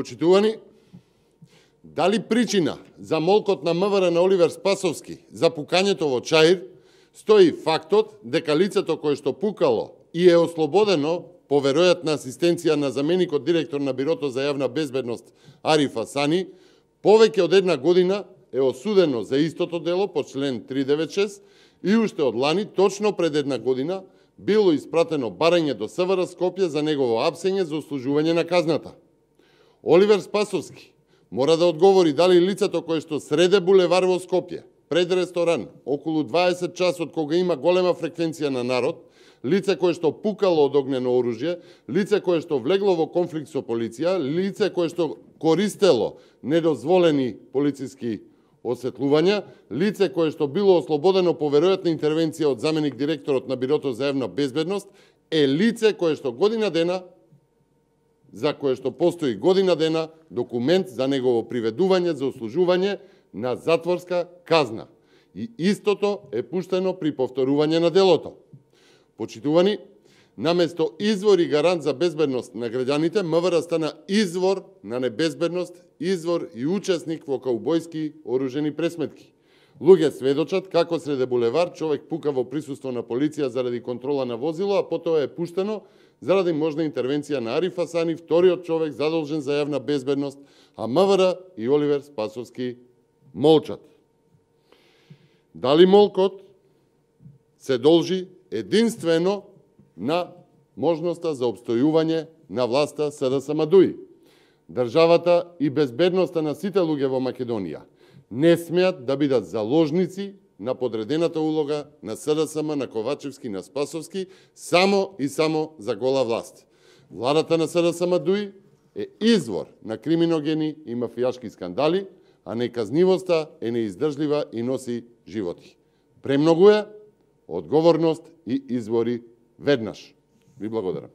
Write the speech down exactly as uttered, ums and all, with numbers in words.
Почитувани, дали причина за молкот на МВР на Оливер Спасовски за пукањето во Чаир стои фактот дека лицето кое што пукало и е ослободено по веројатна асистенција на заменикот директор на Бирото за јавна безбедност Ариф Асани, повеќе од една година е осудено за истото дело по член триста деветдесет и шест и уште од лани, точно пред една година, било испратено барање до СВР Скопје за негово апсење за услужување на казната. Оливер Спасовски мора да одговори дали лицето кое што среде булевар во Скопје, пред ресторан, околу дваесет часот кога има голема фреквенција на народ, лице кое што пукало од огнено оружје, лице кое што влегло во конфликт со полиција, лице кое што користело недозволени полициски осветлувања, лице кое што било ослободено по веројатна интервенција од заменик директорот на Бирото за јавна безбедност, е лице кое што година дена, за кое што постои година дена документ за негово приведување за услужување на затворска казна. И истото е пуштено при повторување на делото. Почитувани, наместо извор и гарант за безбедност на граѓаните, МВР стана извор на небезбедност, извор и учесник во каубојски оружени пресметки. Луѓе сведочат како среде булевар човек пука во присуство на полиција заради контрола на возило, а потоа е пуштено заради можна интервенција на Ариф Асани, вториот човек задолжен за јавна безбедност, а МВР и Оливер Спасовски молчат. Дали молкот се должи единствено на можноста за обстојување на власта СДСМ ДУИ? Државата и безбедноста на сите луѓе во Македонија не смеат да бидат заложници на подредената улога на СДСМ, на Ковачевски, на Спасовски, само и само за гола власт. Владата на СДСМ ДУИ е извор на криминогени и мафијашки скандали, а неказнивоста е неиздржлива и носи животи. Премногу е, одговорност и извори веднаш. Ви благодарам.